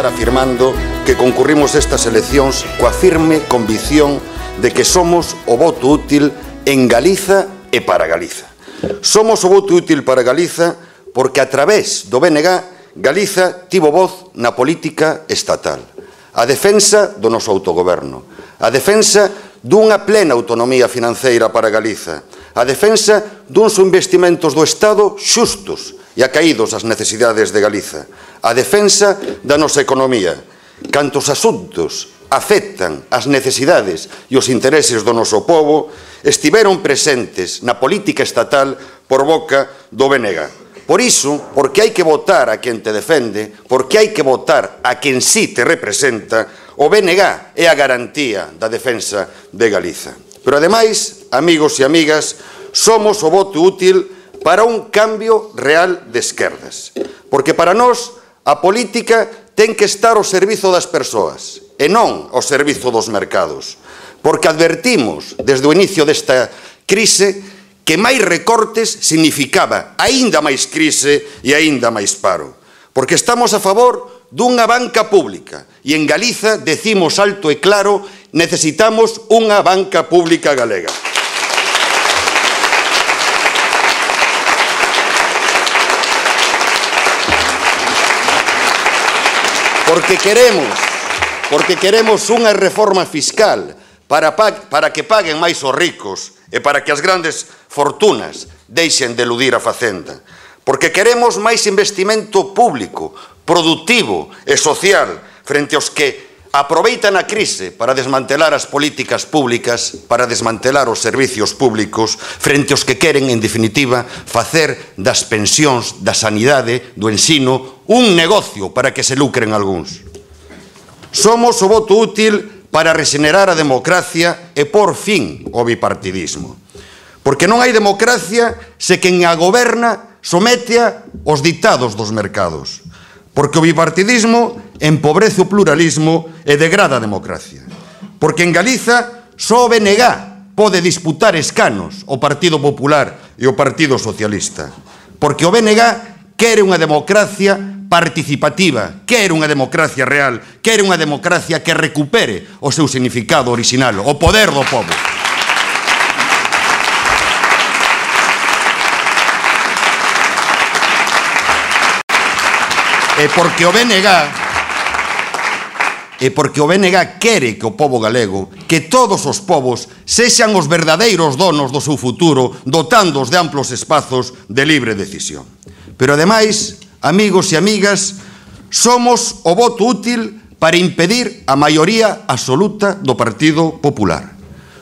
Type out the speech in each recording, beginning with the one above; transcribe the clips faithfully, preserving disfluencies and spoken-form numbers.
comezar afirmando que concurrimos estas eleccións coa firme convicción de que somos o voto útil en Galiza e para Galiza. Somos o voto útil para Galiza porque a través do B N G Galiza tivo voz na política estatal. A defensa do noso autogoberno, a defensa dunha plena autonomía financeira para Galiza, a defensa duns investimentos do Estado xustos e acaídos ás necesidades de Galiza, a defensa da nosa economía. Cantos asuntos afectan as necesidades e os intereses do noso povo estiveron presentes na política estatal por boca do B N G. Por iso, porque hai que votar a quen te defende, porque hai que votar a quen sí te representa, o B N G é a garantía da defensa de Galiza. Pero, ademais, amigos e amigas, somos o voto útil para un cambio real de esquerdas. Porque para nós, a política ten que estar ao servizo das persoas e non ao servizo dos mercados. Porque advertimos, desde o inicio desta crise, que máis recortes significaba aínda máis crise e aínda máis paro. Porque estamos a favor dunha banca pública e en Galiza decimos alto e claro, necesitamos unha banca pública galega. Porque queremos, porque queremos unha reforma fiscal para, para que paguen máis os ricos e para que as grandes fortunas deixen de eludir a facenda. Porque queremos máis investimento público, productivo e social frente aos que aproveitan a crise para desmantelar as políticas públicas, para desmantelar os servicios públicos, frente aos que queren, en definitiva, facer das pensións, da sanidade, do ensino, un negocio para que se lucren algúns. Somos o voto útil para rexenerar a democracia e por fin o bipartidismo. Porque non hai democracia se quen a goberna sometea os ditados dos mercados. Porque o bipartidismo empobrece o pluralismo e degrada a democracia. Porque en Galiza só o B N G pode disputar escanos o Partido Popular e o Partido Socialista. Porque o B N G quere unha democracia participativa, quere unha democracia real, quere unha democracia que recupere o seu significado original, o poder do povo. E porque o B N G e porque o B N G quere que o povo galego, que todos os povos sexan os verdadeiros donos do seu futuro, dotándoos de amplos espazos de libre decisión. Pero, ademais, amigos e amigas, somos o voto útil para impedir a maioría absoluta do Partido Popular.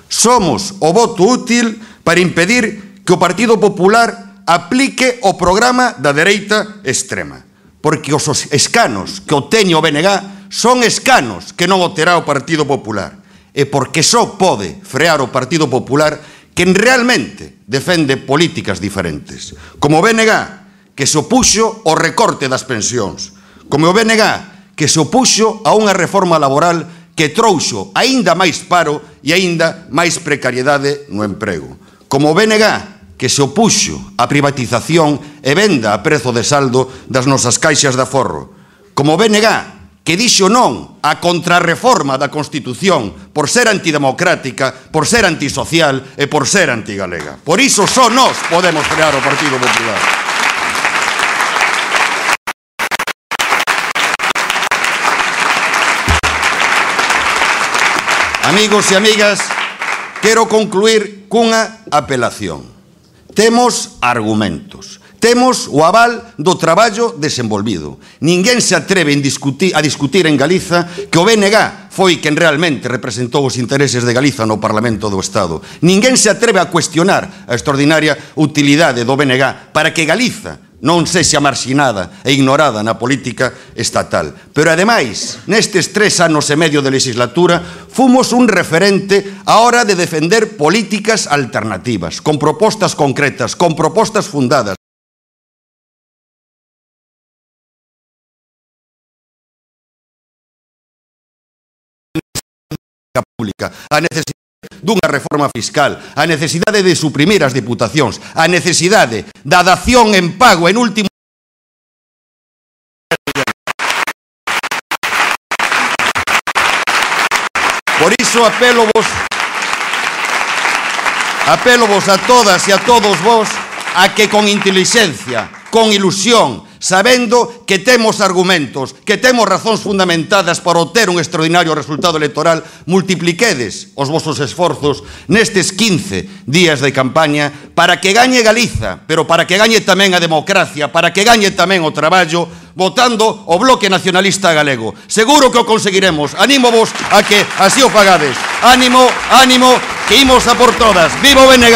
Somos o voto útil para impedir que o Partido Popular aplique o programa da dereita extrema. Porque os escanos que obteñe o B N G son escanos que non obterá o Partido Popular. E porque só pode frear o Partido Popular quen realmente defende políticas diferentes. Como o B N G, que se opuxo ao recorte das pensións. Como o B N G, que se opuxo a unha reforma laboral que trouxo aínda máis paro e aínda máis precariedade no emprego. Como o B N G, que se opuxo á privatización e venda a prezo de saldo das nosas caixas de aforro. Como o B N G, que dixo non á contrarreforma da Constitución por ser antidemocrática, por ser antisocial e por ser antigalega. Por iso só nós podemos frear o Partido Popular. Amigos e amigas, quero concluir cunha apelación. Temos argumentos, temos o aval do traballo desenvolvido. Ninguén se atreve a discutir, a discutir en Galiza que o B N G foi quen realmente representou os intereses de Galiza no Parlamento do Estado. Ninguén se atreve a cuestionar a extraordinaria utilidade do B N G para que Galiza non sexa marxinada e ignorada na política estatal. Pero, ademais, nestes tres anos e medio de legislatura, fomos un referente á hora de defender políticas alternativas, con propostas concretas, con propostas fundadas. Pública, a necesidade dunha reforma fiscal, a necesidade de suprimir as diputacións, a necesidade da dación en pago en último Por iso apelo vos apelo vos a todas e a todos vos a que con intelixencia, con ilusión, sabendo que temos argumentos, que temos razóns fundamentadas para obter un extraordinario resultado electoral, multipliquedes os vosos esforzos nestes quince días de campaña para que gañe Galiza, pero para que gañe tamén a democracia, para que gañe tamén o traballo, votando o Bloque Nacionalista Galego. Seguro que o conseguiremos. Anímovos a que así o fagades. Ánimo, ánimo, que imos a por todas. Viva o B N G!